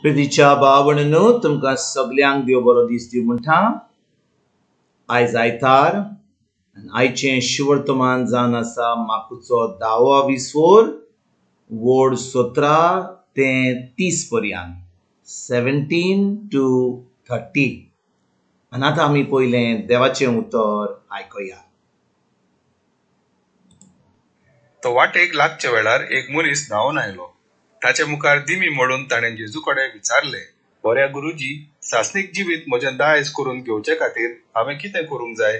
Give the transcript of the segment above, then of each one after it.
प्रितीच्या भाव-भयणींनो, तुमकां सगल्यांक देव बरो दीस दिवं म्हणटा. आयज आयतार आनी आयचें शिवर्तमान जावन आसा माकुचो धावो विसोर वोड 17 ते 30 पर्यंत, 17 to 30. आनी आतां आमी पयलें देवाचें उतर आयकुया. तो वाटेक लागच्या वेळार एक मनीस धांवन आयलो. ताचे मुखार दिमी मोडून ताणें जेजू कडेन विचारलें, बऱ्या गुरुजी, सासणीक जिवीत म्हजें दायज करून घेवचे खातीर हांवें कितें करूंक जाय?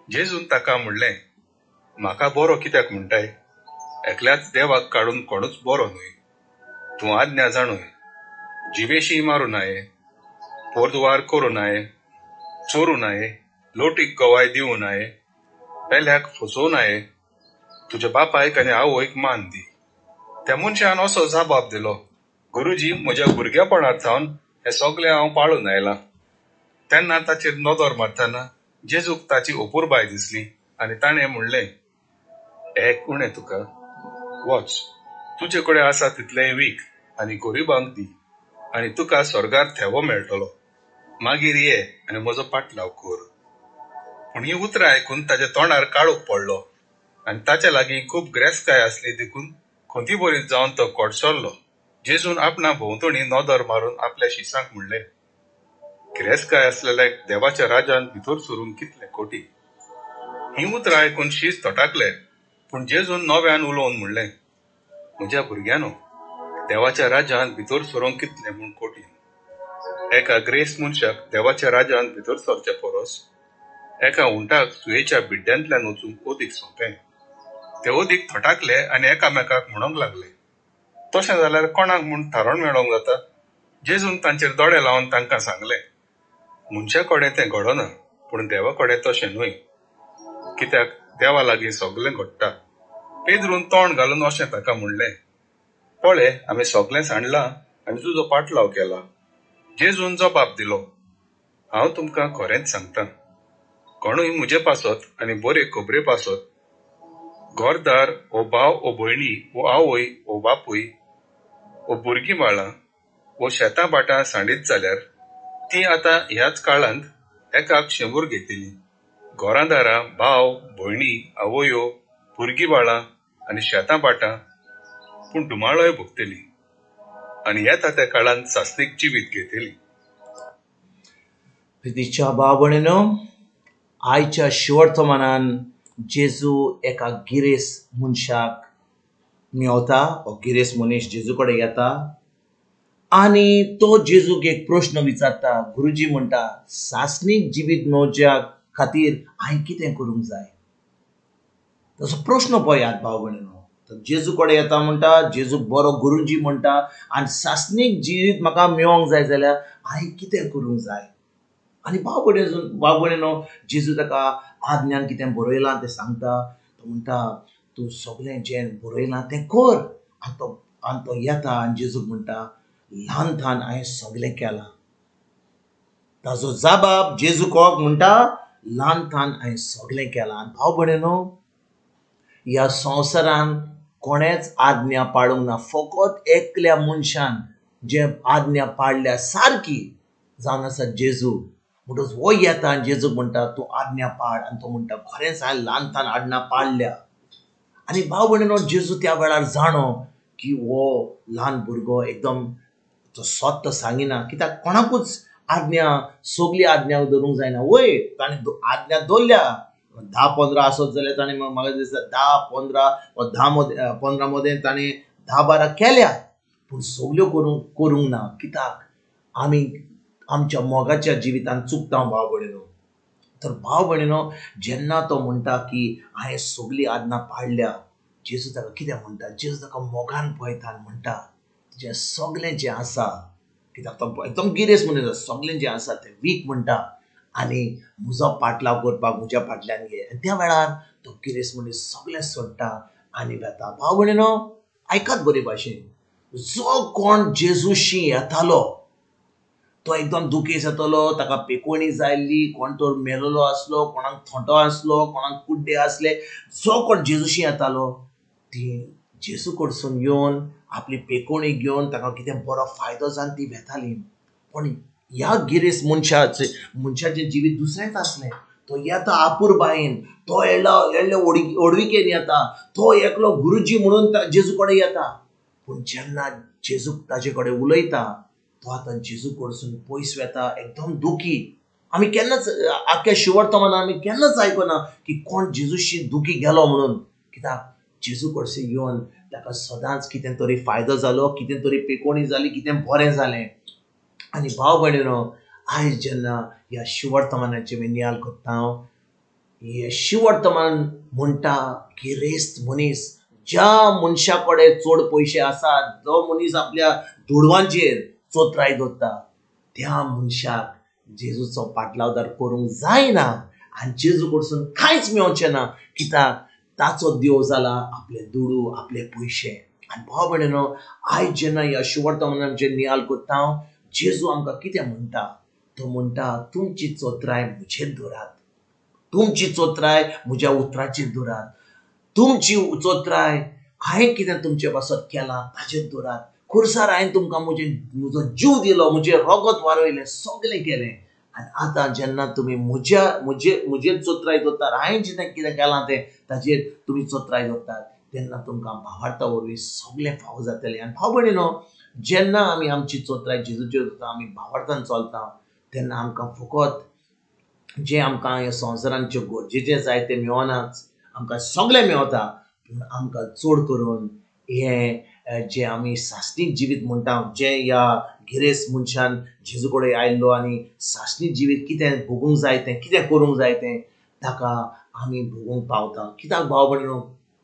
जेजून ताका म्हणलें, म्हाका बरो कित्याक म्हणटाय? एकल्याच देवाक काडून कोणूच बरो न्हय. तूं आज्ञा जाणूय, जिवेशी मारूं नाये, पोरद्वार करूं नाये, चोरूं नाये, लोटीक गवाय दिवं नाये, पेल्याक फसोवं नाये, तुज्या बापायक आनी आवयक मान दी. त्या मनशान असो जबाब दिलो, गुरुजी, म्हज्या भुरगेपणार सावन हें सगळें हांव पाळून आयलां. तेन्ना ताचेर नदर मारतना जेजूक ताची अपुरबाय दिसली आनी ताणें म्हणलें, एक उणें तुका, वच, तुजे कडेन आसा तितलेंय वीक आनी गरिबांक दी आनी तुका स्वर्गार थेवो मेळटलो. मागीर ये आनी म्हजो पाटलाव कर. पूण हीं उतरां आयकून ताच्या तोंडार काळोख पडलो आनी ताच्या लागीं खूब ग्रेसकाय आसली देखून खंतीभरीत जावन तो कोडसरलो. जेजून आपणा भोंवतणी नदर मारून आपल्या शिसांक म्हणलें, गिरेस्तकाय आसलेल्याक देवाच्या राजान भितर सरूंक कितलें कठीण. हीं उतरां आयकून शीस थटाकले. पूण जेजून नव्यान उलोवन म्हणलें, म्हज्या भुरग्यांनो, देवाच्या राजान भितर सरूंक कितलें म्हूण कठीण. एका ग्रेस्त मनशाक देवाच्या राजान भितर सरचे परस एका उंटाक सुयेच्या बिड्ड्यांतल्यान वचूंक अदीक सोंपें. ते अदीक थटाकले आनी एकामेकाक म्हणूंक लागले, तशें जाल्यार कोणाक म्हूण थारोवन मेळोवंक जाता? जेजून तांचेर दोळे लावन तांकां सांगलें, मनशा कडेन तें घडना, पूण देवा कडेन तशें न्हय, कित्याक देवा लागीं सगलें घडटा. पेद्रून तोंड घालून अशें ताका म्हणलें, पळय, आमी सगलें सांडलां आनी तुजो पाटलाव केला. जेजून जबाब दिलो, हांव तुमकां खरेंच सांगता, कोणूय म्हजे पासत आनी बरे खबरे पासत घरदार ओ भाव ओ भयणी ओ आवय ओ बापूय ओ भुरगीं बाळां ओ शेतां भाटां सांडीत जाल्यार तीं आतां ह्याच काळांत एकाक 100 घेतलीं. घरां दारां, भाव भयणी, आवयो, भुरगीं बाळां आनी शेतां भाटां, पूण धुमाळोय भोगतलीं आनी येता त्या काळांत सासणीक जिवीत घेतली. प्रितीच्या भाव भयणीनो, आयच्या शिवर्तमानान जेजू एका गिरेस्त मनशाक मेवता. हो गिरेस्त मनीस जेजू कडेन येता आनी तो जेजूक एक प्रश्न विचारता. गुरुजी म्हणटा, सासणीक जिवीत मेवच्या खातीर हांवें कितें करूंक जाय? तसो प्रश्न पळयात भाव भयणीनो. तो जेजू कडेन येता म्हणटा, जेजूक बरो गुरुजी म्हणटा आनी सासणीक जिवीत म्हाका मेळोंक जाय जाल्यार हांवें कितें करूंक जाय? आनी भाव भयणीनो, जेजू ताका आज्ञान कितें बरयलां तें सांगता. तो म्हणटा, तूं सगळें जें बरयलां तें कर. आनी तो येता आनी जेजूक म्हणटा, ल्हान थान हांवें सगळें केलां. ताजो जबाब जेजू कोक म्हणटा, ल्हान थान हांवें सगळें केलां. आनी भाव भयणीनो, ह्या संवसारान कोणेच आज्ञा पाळूंक ना. फकत एकल्या मनशान जे आज्ञा पाळल्या सारकी जावन आसा जेजू. म्हणटच हो येता आनी जेजूक म्हणटा, तूं आज्ञा पाळ. आनी तो म्हणटा, खरेंच हांवें ल्हान थान आज्ञा पाळल्या. आनी भाव भयणीनो, जेजू त्या वेळार जाणो की हो ल्हान भुरगो एकदम तो सत्य सांगिना, कित्याक कोणाकूच आज्ञा सगली आज्ञा धरूंक जायना. वय ताणें आज्ञा दवरल्या, 10-15 आसत जाल्यार ताणें म्हाका दिसता 10-15 वा 10 15 मदें ताणें 10-12 केल्या, पूण सगल्यो करूंक ना. कित्याक आमी आमच्या मोगाच्या जिवितान चुकता भाव भयणीनो. तर भाव भयणीनो, जेन्ना तो म्हणटा की हांवें सगली आज्ञा पाळल्या, जेजू ताका कितें म्हणटा? जेजू ताका मोगान पळयता आनी म्हणटा, तुजें सगलें जें आसा, कित्याक तो एकदम गिरेस्त मनीस, सगलें जें आसा तें वीक म्हणटा आनी म्हजो पाटलाव करपाक म्हज्या फाटल्यान घे. आनी त्या वेळार तो गिरेस्त मनीस सगलें सोडटा आनी वेता. भाव भयणीनो, आयकात बरे भाशेन, जो कोण जेजूशी येतालो तो एकदम दुखेस्त जातालो. ताका पेकोणी जाल्ली, कोण तर मेलोलो आसलो, कोणाक थोंटो आसलो, कोणाक कुड्डे आसले. जो कोण जेजूशी येतालो ती जेजू कडसून येवन आपली पेकोणी घेवन ताका कितें बरो फायदो जावन ती वेताली. पूण ह्या गिरेस्त मनशाचें जिवीत दुसरेंच आसलें. तो येता आपुरबायेन, तो येयल्ले ओडविकेन येता, तो एकलो गुरुजी म्हणून जेजू कडेन येता. पूण जेन्ना जेजू ताजे कडेन उलयता तो आतां जेजू कडसून पयस वेता, एकदम दुखी. आमी केन्नाच आख्ख्या शिवर्तमानान आमी केन्नाच आयकना की कोण जेजूशी दुखी गेलो म्हणून. कित्याक जेजू कडसून येवन ताका सदांच कितें तरी फायदो जालो, कितें तरी पेकोणी जाली, कितें बरें जालें. आनी भाव भयणीनो, आयज जेन्ना ह्या शिवर्तमानाचे आमी नियाल करता, हे शिवर्तमान म्हणटा गिरेस्त मनीस, ज्या मनशा कडेन चड पयशे आसात, जो मनीस आपल्या दुडवांचेर चोत्राय दवरता, त्या मनशाक जेजूचो पाटलावदार करूंक जायना आनी जेजू कडसून कांयच मेळचें ना. कित्याक ताचो देव जाला आपले दुडू, आपले पयशे. आनी भाव भयणीनो, आयज जेन्ना ह्या शिवर्तमानाचेर नियाल करता, जेजू आमकां कितें म्हणटा? तो म्हणटा तुमची चोत्राय म्हजेर दवरात, तुमची चोत्राय म्हज्या उतराचेर दवरात, तुमची चोत्राय हांवें कितें तुमचे पासत केलां ताचेर दवरात. खुर्सार हांवें तुमकां म्हजो जीव दिलो, म्हजें रगत वारयलें, सगळें केलें. आनी आतां जेन्ना तुमी म्हजेर चोत्राय दवरतात, हांवें जेन्ना कितें केलां तें ताचेर तुमी चोत्राय दवरतात, तेन्ना तुमकां भावार्था वरवीं सगळें फावो जातलें. आनी भाव भयणीनो, जेन्ना आमी आमची चोत्राय जेजूचेर दवरता, आमी भावार्थान चलता, तेन्ना आमकां फकत जें आमकां ह्या संवसारांत गरजेचें जाय तें मेळनाच, आमकां सगळें मेळता. पूण आमकां चड करून हें जें आमी सासणीक जिवीत म्हणटा, जें ह्या गिरेस्त मनशान जेजू कडेन आयिल्लो आनी सासणीक जिवीत कितें भोगूंक जाय तें, कितें करूंक जाय तें ताका आमी भोगूंक पावता. कित्याक भाव भयणीनो,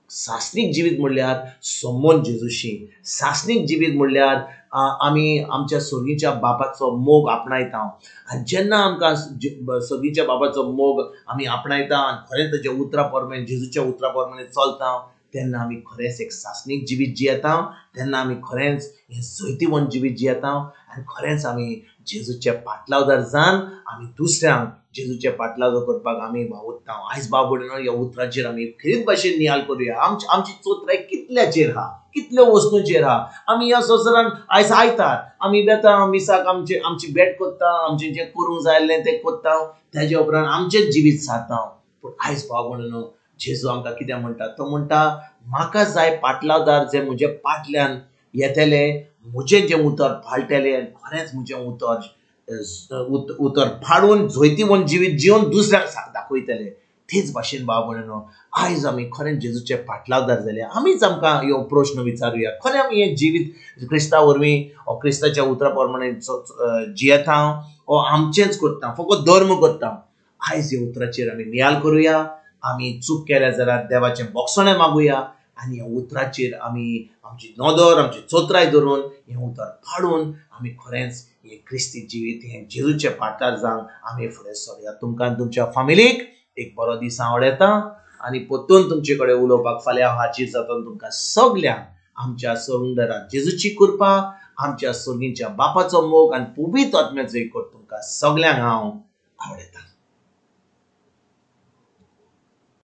सासणीक जिवीत म्हणल्यार संबंद जेजूशी, सासणीक जिवीत म्हणल्यार आमी आमच्या सर्गीच्या बापाचो मोग आपणायता. आनी जेन्ना आमकां सर्गीच्या बापाचो मोग आमी आपणायता आनी खरेंच ताच्या उतरा प्रमाणे, जेजूच्या उतरा प्रमाणे चलता, तेन्ना आमी खरेंच एक सासणीक जिवीत जियेता, तेन्ना आमी खरेंच हें जैतिवंत जिवीत जियेता आनी खरेंच आमी जेजूचे पाटलावदार जावन आमी दुसऱ्यांक जेजूचे पाटलावदार करपाक आमी वावुरता. आयज भाव भयणीनो, ह्या उतराचेर आमी खेरीत भाशेन नियाल करुया. आमची चोत्राय कितल्याचेर आहा, कितल्यो वस्तूंचेर आहा. आमी ह्या संवसारान आयज आयतात, आमी वेता मिसाक, आमची भेट करता, आमचें जें करूंक जाय आसलें तें करता, ताजे उपरांत आमचें जिवीत सारता. पूण आयज भाव भयणीनो, जेजू आमकां कितें म्हणटा? तो म्हणटा म्हाका जाय पाटलावदार जे म्हज्या पाटल्यान येतले, म्हजें जें उतर पाळटले आनी खरेंच म्हजें उतर पाळून जैतिवंत जिवीत जिवन दुसऱ्यांक दाखयतले. तेच भाशेन भाव भयणीनो, आयज आमी खरेंच जेजूचे पाटलावदार जाले. आमीच आमकां ह्यो प्रश्न विचारुया, खरें आमी हें जिवीत क्रिस्ता वरवीं ओ क्रिस्ताच्या उतरा प्रमाणे जियेता ओ आमचेंच करता, फकत धर्म करता. आयज ह्या उतराचेर आमी नियाल करुया. आमी चूक केल्या जाल्यार देवाचें बोगसणें मागुया आनी ह्या उतराचेर आमी आमची नदर, आमची चोत्राय धरून हें उतर पाळून आमी खरेंच हें क्रिस्ती जिवीत, हें जेजूचे पाटार जावन आमी फुडें सरुया. तुमकां आनी तुमच्या फामिलीक एक बरो दीस हांव आवडयता आनी परतून तुमचे कडेन उलोवपाक फाल्यां हांव हाजीर जाता. तुमकां सगल्यांक आमच्या सुंदरा जेजूची कृपा, आमच्या सर्गीच्या बापाचो मोग आनी पवित्र आत्म्याचो एकवट तुमकां सगल्यांक हांव आवडयता.